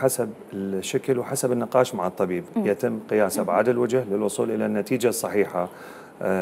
حسب الشكل وحسب النقاش مع الطبيب يتم قياس أبعاد الوجه للوصول إلى النتيجة الصحيحة.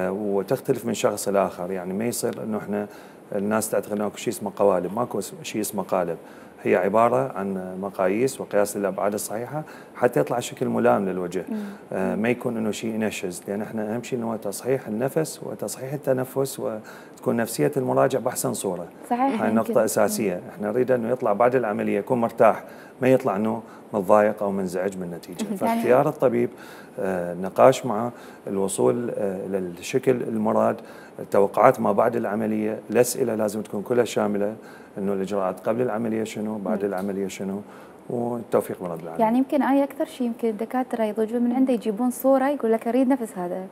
وتختلف من شخص إلى آخر، يعني ما يصير أنه إحنا الناس تعتقد أنه شيء اسمه قوالب، ماكو شيء اسمه قالب، هي عبارة عن مقاييس وقياس للأبعاد الصحيحة حتى يطلع شكل ملائم للوجه. ما يكون أنه شيء ينشز، لأن إحنا أهم شيء أنه تصحيح النفس وتصحيح التنفس وتكون نفسية المراجع بأحسن صورة. صحيح، هاي نقطة أساسية، إحنا نريد أنه يطلع بعد العملية يكون مرتاح، ما يطلع أنه متضايق أو منزعج من النتيجة. فاختيار الطبيب، النقاش معه، الوصول إلى الشكل المراد، التوقعات ما بعد العملية، الأسئلة لازم تكون كلها شاملة، أنه الإجراءات قبل العملية شنو، بعد العملية شنو، والتوفيق من رب العالمين. يعني يمكن أكثر شيء يمكن الدكاترة يضجون من عنده يجيبون صورة يقول لك أريد نفس هذا.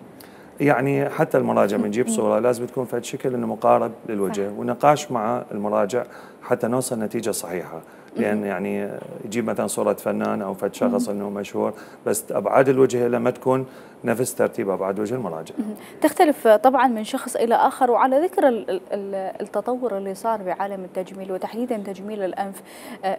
يعني حتى المراجع بنجيب صورة لازم تكون في شكل انه مقارب للوجه، ونقاش مع المراجع حتى نوصل نتيجة صحيحة. لأن يعني يجيب مثلا صورة فنان أو فد شخص انه مشهور، بس أبعاد الوجه لما تكون نفس ترتيب أبعاد وجه المراجع. تختلف طبعا من شخص إلى آخر. وعلى ذكر التطور اللي صار بعالم التجميل وتحديدا تجميل الأنف،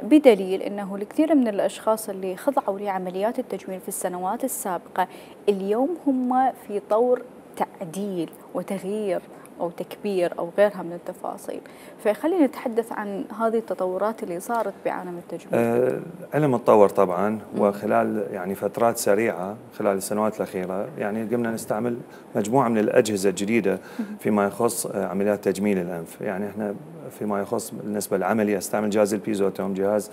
بدليل أنه الكثير من الأشخاص اللي خضعوا لعمليات التجميل في السنوات السابقة اليوم هم في طور تعديل وتغيير أو تكبير أو غيرها من التفاصيل. فخلينا نتحدث عن هذه التطورات اللي صارت بعالم التجميل. علم تطور طبعا، وخلال يعني فترات سريعة خلال السنوات الأخيرة يعني قمنا نستعمل مجموعة من الأجهزة الجديدة فيما يخص عمليات تجميل الأنف. يعني احنا فيما يخص بالنسبة للعملية استعمل جهاز البيزوتوم، جهاز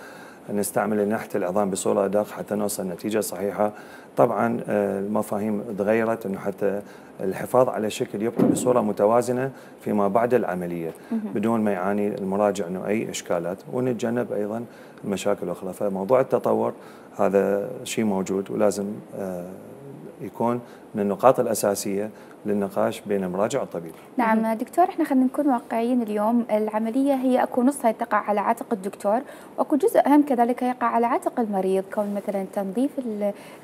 نستعمل نحت العظام بصورة أدق حتى نوصل نتيجة صحيحة. طبعا المفاهيم تغيرت انه حتى الحفاظ على الشكل يبقى بصورة متوازنة فيما بعد العملية بدون ما يعاني المراجع انه اي اشكالات، ونتجنب ايضا المشاكل الاخرى. فموضوع التطور هذا شيء موجود ولازم يكون من النقاط الأساسية للنقاش بين المراجع والطبيب. نعم دكتور، احنا خلينا نكون واقعيين اليوم. العملية هي اكو نصها تقع على عاتق الدكتور، واكو جزء اهم كذلك يقع على عاتق المريض، كون مثلا تنظيف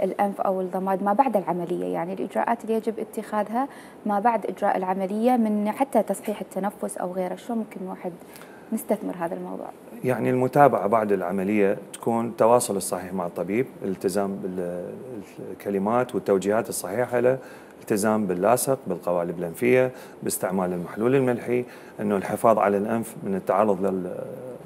الانف او الضماد ما بعد العملية، يعني الاجراءات اللي يجب اتخاذها ما بعد اجراء العملية من حتى تصحيح التنفس او غيره. شو ممكن واحد نستثمر هذا الموضوع؟ يعني المتابعة بعد العملية تكون التواصل الصحيح مع الطبيب، الالتزام بالكلمات والتوجيهات الصحيحة له، الالتزام باللاصق، بالقوالب الأنفية، باستعمال المحلول الملحي، أنه الحفاظ على الأنف من التعرض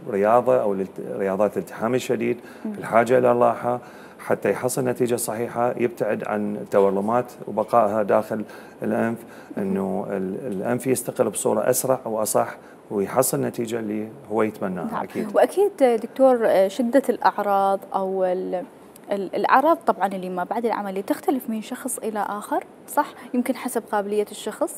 للرياضة أو رياضات الالتحام الشديد، الحاجة إلى الراحة حتى يحصل نتيجة صحيحة، يبتعد عن التورمات وبقائها داخل الأنف، أنه الأنف يستقر بصورة أسرع وأصح ويحصل نتيجة اللي هو يتمناها. أكيد. وأكيد دكتور شدة الأعراض أو الأعراض طبعا اللي ما بعد العملية تختلف من شخص إلى آخر، صح؟ يمكن حسب قابلية الشخص.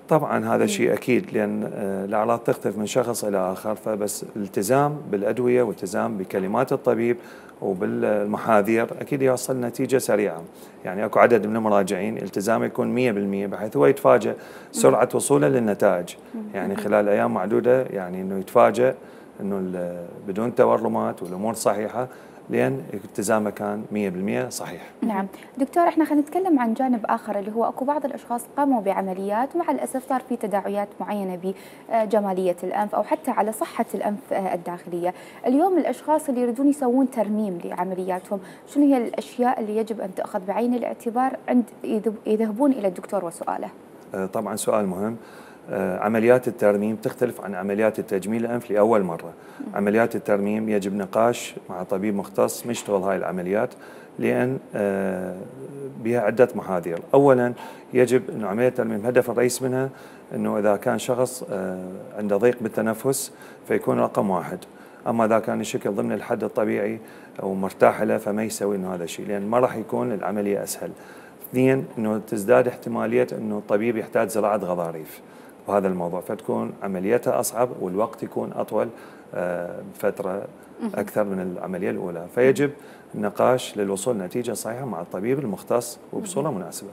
طبعا هذا شيء أكيد، لأن الأعراض تختلف من شخص إلى آخر، فبس الالتزام بالأدوية والالتزام بكلمات الطبيب وبالمحاذير أكيد يوصل نتيجة سريعة. يعني أكو عدد من المراجعين التزامه يكون 100% بحيث هو يتفاجأ سرعة وصوله للنتائج، يعني خلال أيام معدودة يعني أنه يتفاجأ أنه بدون تورمات والأمور صحيحة، لأن التزامه كان 100% صحيح. نعم دكتور، احنا خلينا نتكلم عن جانب آخر اللي هو اكو بعض الأشخاص قاموا بعمليات ومع الأسف صار في تداعيات معينة بجمالية الأنف أو حتى على صحة الأنف الداخلية. اليوم الأشخاص اللي يريدون يسوون ترميم لعملياتهم، شنو هي الأشياء اللي يجب أن تأخذ بعين الاعتبار عند يذهبون إلى الدكتور وسؤاله؟ طبعا سؤال مهم. عمليات الترميم تختلف عن عمليات التجميل الأنف لأول مرة. عمليات الترميم يجب نقاش مع طبيب مختص مشتغل هاي العمليات، لأن بها عدة محاذير. أولا يجب أن عملية الترميم هدف الرئيس منها أنه إذا كان شخص عنده ضيق بالتنفس فيكون رقم واحد، أما إذا كان الشكل ضمن الحد الطبيعي أو مرتاح له فما يسوي إنه هذا الشيء، لأن ما راح يكون العملية أسهل. اثنين، أنه تزداد احتمالية أنه الطبيب يحتاج زراعة غضاريف وهذا الموضوع، فتكون عمليتها أصعب والوقت يكون أطول فترة أكثر من العملية الأولى. فيجب النقاش للوصول لنتيجة صحيحة مع الطبيب المختص وبصورة مناسبة.